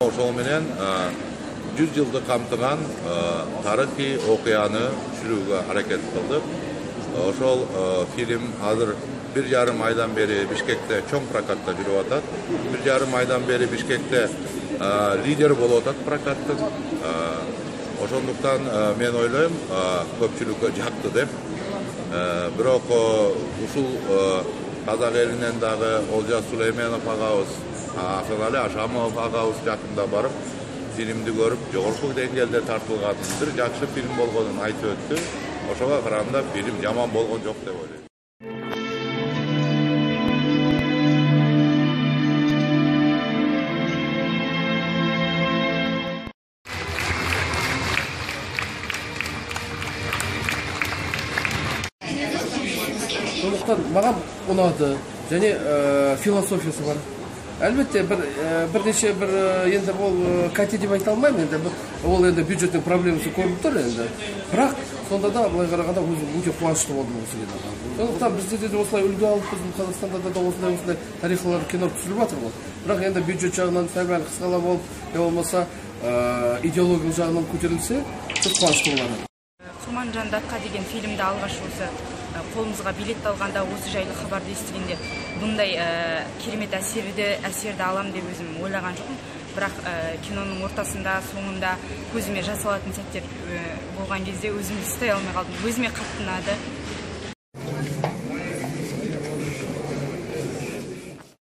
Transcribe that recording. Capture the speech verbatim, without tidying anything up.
Ошол менен жүз жылды камтыган тарыхый окуяны түшүрүүгө аракет кылдык. Ошол фильм азыр бир жарым айдан бери Бишкекте чоң прокатта жүрүп атат. Бир жарым айдан бери Бишкекте лидер болуп атат прокаттын. Ошондуктан мен ойлойм, көпчүлүккө жакты деп. Бирок ушул казак элинен дагы Олжас Сулейменов агабыз, Асанали Ашамов агабыз жакында барып, фильмди көрүп, жогорку деңгээлде тартылган бир жакшы фильм болгонун айтып өттү. Ошого караганда фильм жаман болгон жок деп ойлойм. Сондықтан маған ұнады, және философиясы бар. Әлбетте бір бірнеше бір енді ол кате деп айта алмаймын, енді ол енді бюджеттің проблемасы көрініп тұр енді. Бірақ сонда да былай қарағанда өте қуанышты болдым осы жерде. Сондықтан бізде де осылай үлгі алып, біздің Қазақстанда да осындай осындай тарихилар кино түсіріліп жатыр ғой. Бірақ енді бюджет жағынан сәл қысқалап болып, не болмаса идеологиялық жағынан көтерілсе, біз қуанышты боламыз. Құрманжан Датқа деген фильмді алғаш осы қолымызға билет алғанда осы жайлы хабарды естігенде бұндай керемет әсерді әсерді алам деп өзім ойлаған жоқпын. Бірақ киноның ортасында, соңында көзіме жас алатын сәттер болған кезде өзімді ұстай алмай қалдым. Өзіме қатты ұнады.